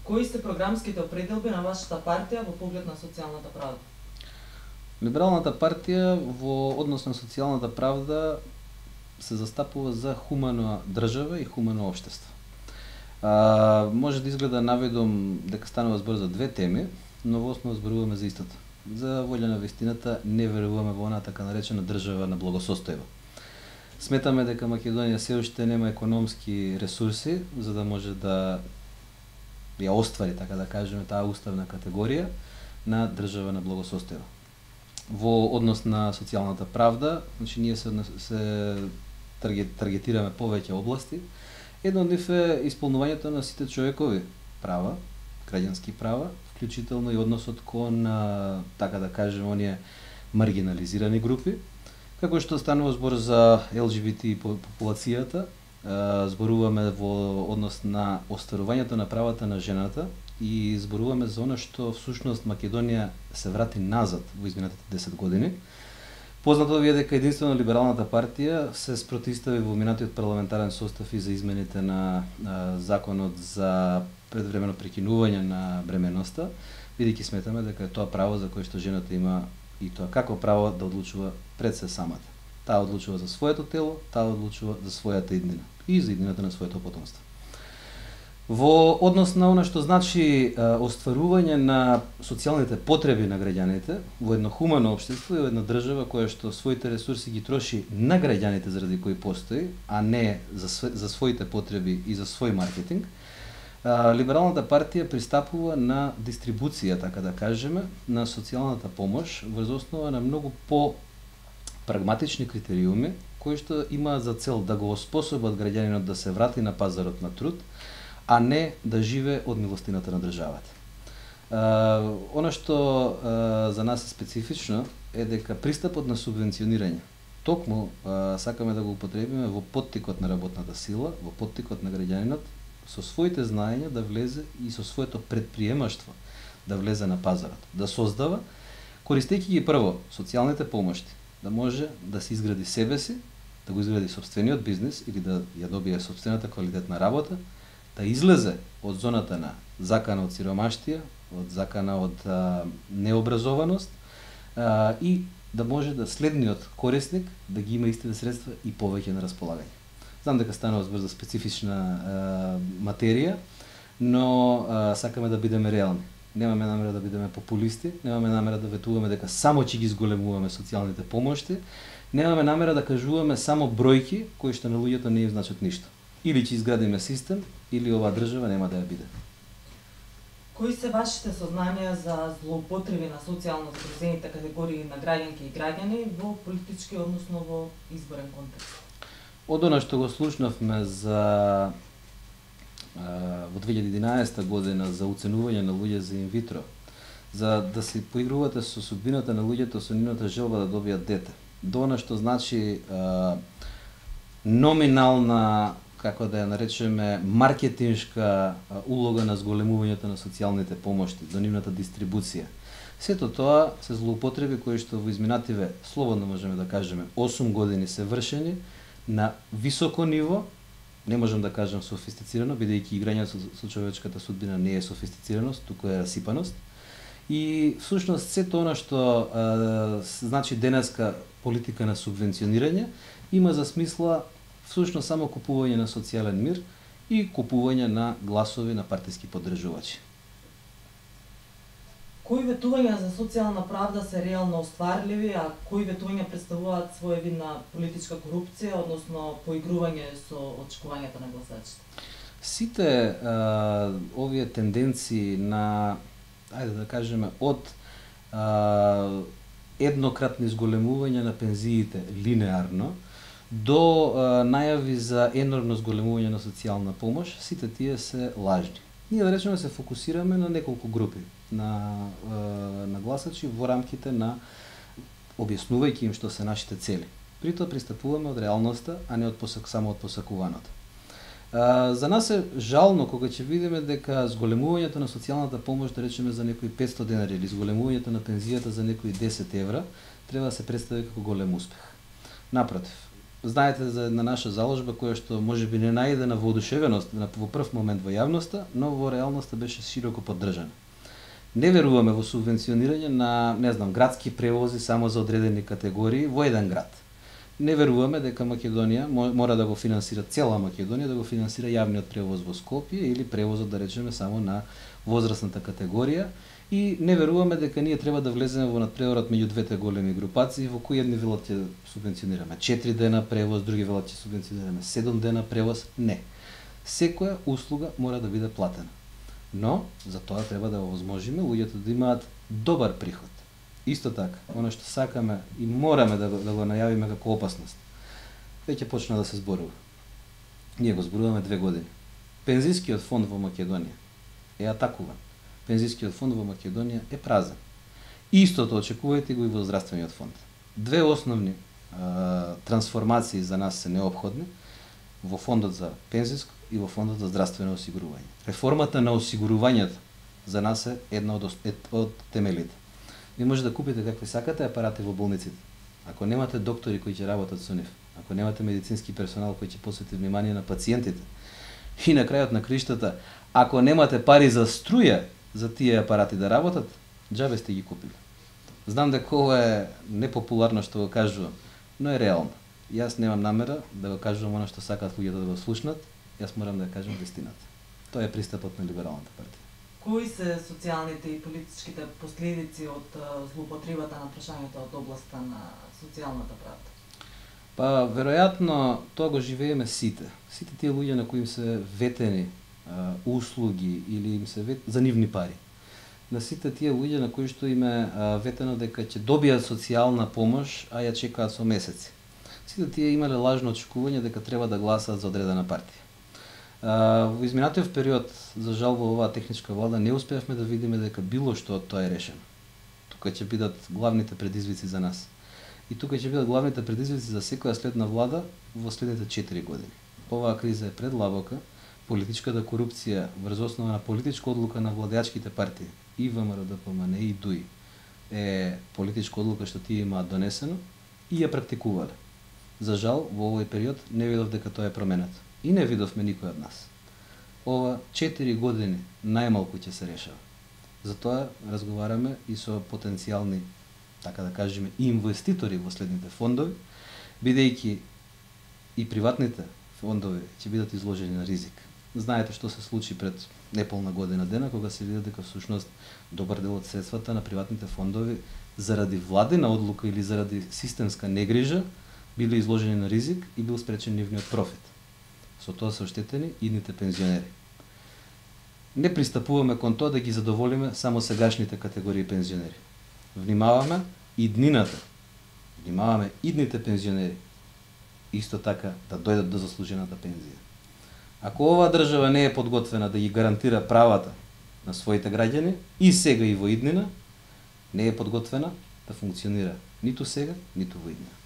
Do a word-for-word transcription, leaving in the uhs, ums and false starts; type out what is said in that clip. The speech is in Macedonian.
Кои се програмските определби на вашата партија во поглед на социјалната правда? Либералната партија во однос на социјалната правда се застапува за хумана држава и хумано општество. А, може да изгледа наведом дека станува збор за две теми, но во основа зборуваме за истото. За волја на вистината не веруваме во она така наречена држава на благосостојба. Сметаме дека Македонија се уште нема економски ресурси за да може да ја оствари, така да кажеме, таа уставна категорија на држава на благосостојба. Во однос на социјалната правда, значи ние се, се таргетираме повеќе области. Едно од нив е исполнувањето на сите човекови права, граѓански права, вклучително и односот кон, така да кажеме, оние маргинализирани групи, како што станува збор за Ел Џи Би Ти популацијата, зборуваме во однос на остварувањето на правата на жената и зборуваме за она што всушност Македонија се врати назад во изминатите десет години. Познато ви е дека единствено Либералната партија се спротивстави во минатиот парламентарен состав и за измените на, на законот за предвремено прекинување на бременоста, бидејќи сметаме дека е тоа право за кое што жената има и тоа како право да одлучува пред се самата. Таа одлучува за своето тело, таа одлучува за својата иднина и за иднината на своето потомство. Во однос на она што значи а, остварување на социјалните потреби на граѓаните во едно хумано општество и во една држава која што своите ресурси ги троши на граѓаните заради кои постои, а не за, за своите потреби и за свој маркетинг, а, Либералната партија пристапува на дистрибуција, така да кажеме, на социјалната помош врз основа на многу по прагматични критериуми кои што има за цел да го оспособат граѓанинот да се врати на пазарот на труд, а не да живее од милостината на државата. Uh, она што uh, за нас е специфично е дека пристапот на субвенционирање токму uh, сакаме да го употребиме во поттикот на работната сила, во поттикот на граѓанинот со своите знаења да влезе и со своето предприемаштво да влезе на пазарот, да создава, користејќи ги прво социјалните помошти, да може да се изгради себе си, да го изгради собствениот бизнис или да ја добие собствената квалитетна работа, да излезе од зоната на закана од сиромаштија, од закана од а, необразованост а, и да може да следниот корисник да ги има истите средства и повеќе на располагање. Знам дека станува збор за специфична а, материја, но а, сакаме да бидеме реални. Немаме намера да бидеме популисти, немаме намера да ветуваме дека само ќе ги зголемуваме социјалните помошти, немаме намера да кажуваме само бројки кои што на луѓето не им значат ништо. Или ќе изградиме систем, или оваа држава нема да ја биде. Кои се вашите сознанија за злоупотреби на социјално загрозените категории на граѓанки и граѓани во политички, односно во изборен контекст? Од она што го слушнавме за во две илјади и единаесета година за оценување на луѓе за инвитро, за да се поигрувате со судбината на луѓето со нивната желба да добијат дете. До она што значи а, номинална, како да ја наречеме, маркетиншка улога на зголемувањето на социјалните помошти, до нивната дистрибуција. Сето тоа се злоупотреби кои што во изминативе, слободно можеме да кажеме, осум години се вршени на високо ниво, не можам да кажам софистицирано, бидејќи играњето со човечката судбина не е софистицираност, туку е расипаност. И всушност сето она што а, значи денеска политика на субвенционирање има за смисла всушност само купување на социјален мир и купување на гласови на партиски поддржувачи. Кои ветувања за социјална правда се реално остварливи, а кои ветувања представуваат своевидна политичка корупција, односно поигрување со очекувањата на гласачите? Сите а, овие тенденции на, ајде да кажеме, од а, еднократни зголемувања на пензиите линеарно до а, најави за енормно зголемување на социјална помош, сите тие се лажни. Ние да речеме се фокусираме на неколку групи на, на гласачи во рамките на објаснувајќи им што се нашите цели. При тоа пристапуваме од реалноста, а не од посак, само од посакуваното. А, за нас е жално кога ќе видиме дека зголемувањето на социјалната помош, да речеме за некои петстотини денари или зголемувањето на пензијата за некои десет евра, треба да се представи како голем успех. Напротив, знаете за една наша заложба која што можеби не најде на воодушевеност во прв момент во јавноста, но во реалноста беше широко поддржана. Не веруваме во субвенционирање на, не знам, градски превози само за одредени категории во еден град. Не веруваме дека Македонија мора да го финансира, цела Македонија да го финансира јавниот превоз во Скопје или превозот, да речеме, само на возрастната категорија, и не веруваме дека ние треба да влеземе во надпреварот меѓу двете големи групации во кои едни велат ќе субвенционираме четири дена превоз, други велат ќе субвенционираме седум дена превоз. Не. Секоја услуга мора да биде платена. Но за тоа треба да овозможиме луѓето да имаат добар приход. Исто така, оно што сакаме и мораме да го, да го најавиме како опасност, веќе почна да се зборува. Ние го зборуваме две години. Пензискиот фонд во Македонија е атакуван. Пензискиот фонд во Македонија е празен. Истото очекувајте го и во здравствениот фонд. Две основни а, трансформации за нас се неопходни во фондот за пензиско и во фондот за здравствено осигурување. Реформата на осигурувањето за нас е една од, од темелите. Ви може да купите какви сакате апарати во болниците. Ако немате доктори кои ќе работат со нив, ако немате медицински персонал кој ќе посвети внимание на пациентите, и на крајот на криштата, ако немате пари за струја за тие апарати да работат, џабе сте ги купили. Знам дека ова е непопуларно што го кажувам, но е реално. Јас немам намера да го кажувам она што сакаат луѓето да го слушнат, јас морам да ја кажам вистината. Тоа е пристапот на либералната партија. Кои се социјалните и политичките последици од злоупотребата на прашањето од областа на социјалната правда? Па, веројатно, тоа го живееме сите. Сите тие луѓе на кои им се ветени а, услуги или им се вет... за нивни пари. На сите тие луѓе на кои што им е а, ветено дека ќе добијат социјална помош, а ја чекаат со месеци. Сите тие имале лажно очекување дека треба да гласаат за одредена партија. А, во изминатиот период, за жал, во оваа техничка влада не успеавме да видиме дека било што од тоа е решено. Тука ќе бидат главните предизвици за нас. И тука ќе бидат главните предизвици за секоја следна влада во следните четири години. Оваа криза е предлабока, политичката корупција врз основа на политичка одлука на владеачките партии и ВМРО Д П М Н и ДУИ е политичка одлука што тие имаат донесено и ја практикувале. За жал, во овој период не видов дека тоа е променето. И не видовме никој од нас. Ова четири години најмалку ќе се решава. Затоа разговараме и со потенцијални, така да кажеме, инвеститори во следните фондови, бидејќи и приватните фондови ќе бидат изложени на ризик. Знаете што се случи пред неполна година дена, кога се види дека всушност добар дел од средствата на приватните фондови заради владина одлука или заради системска негрижа биле изложени на ризик и бил спречен нивниот профит. Со тоа се оштетени идните пензионери. Не пристапуваме кон тоа да ги задоволиме само сегашните категории пензионери. Внимаваме иднината. Внимаваме идните пензионери. Исто така да дојдат до заслужената пензија. Ако оваа држава не е подготвена да ги гарантира правата на своите граѓани и сега и во иднина, не е подготвена да функционира ниту сега, ниту во иднина.